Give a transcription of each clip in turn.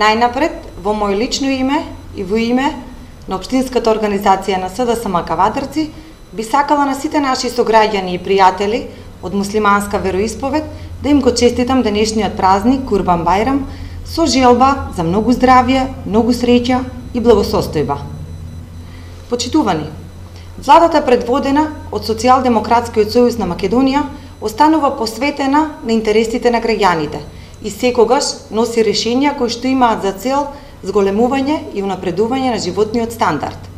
Најнапред, во мој лично име и во име на Општинската организација на СДСМ Кавадарци, би сакала на сите наши сограѓани и пријатели од муслиманска вероисповед да им го честитам денешниот празник Курбан Бајрам со желба за многу здравје, многу среќа и благосостојба. Почитувани, владата предводена од Социјалдемократскиот сојуз на Македонија останува посветена на интересите на граѓаните и секогаш носи решенија кои што имаат за цел зголемување и унапредување на животниот стандард.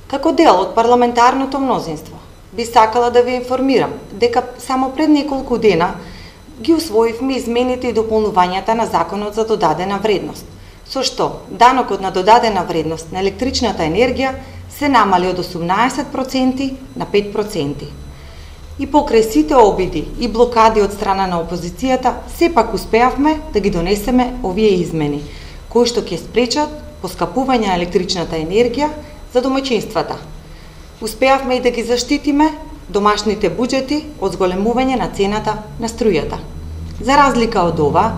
Како дел од парламентарното мнозинство, би сакала да ве информирам дека само пред неколку дена ги усвоивме измените и дополнувањата на Законот за додадена вредност, со што данокот на додадена вредност на електричната енергија се намали од 18% на 5%. И покрај сите обиди и блокади од страна на опозицијата, сепак успеавме да ги донесеме овие измени, кои што ќе спречат поскапување на електричната енергија за домаќинствата. Успеавме и да ги заштитиме домашните буџети од зголемување на цената на струјата. За разлика од ова,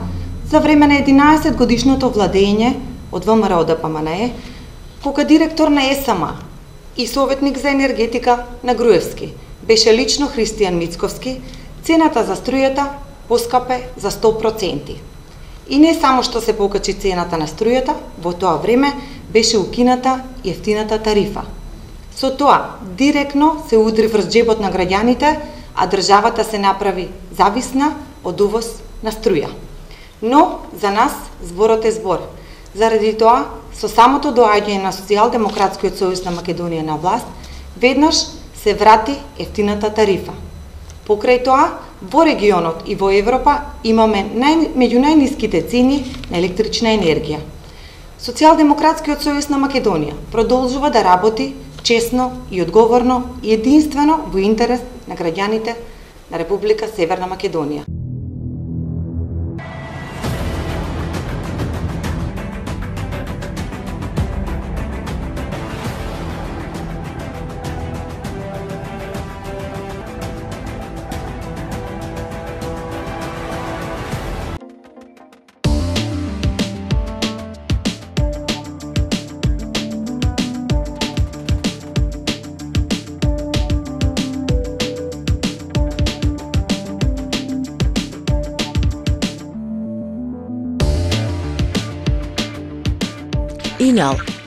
за време на 11 годишното владење од ВМРО ДПМНЕ, кога директор на ЕСМ и советник за енергетика на Груевски беше лично Христијан Мицковски, цената за струјата поскапе за 100%. И не само што се покачи цената на струјата, во тоа време беше укината ефтината тарифа. Со тоа, директно се удри врз џебот на граѓаните, а државата се направи зависна од увоз на струја. Но, за нас, зборот е збор. Заради тоа, со самото доаѓање на Социјалдемократскиот сојуз на Македонија на власт, веднаш се врати ефтината тарифа. Покрај тоа, во регионот и во Европа имаме меѓу најниските цени на електрична енергија. Социјалдемократскиот сојуз на Македонија продолжува да работи честно и одговорно и единствено во интерес на граѓаните на Република Северна Македонија. Inal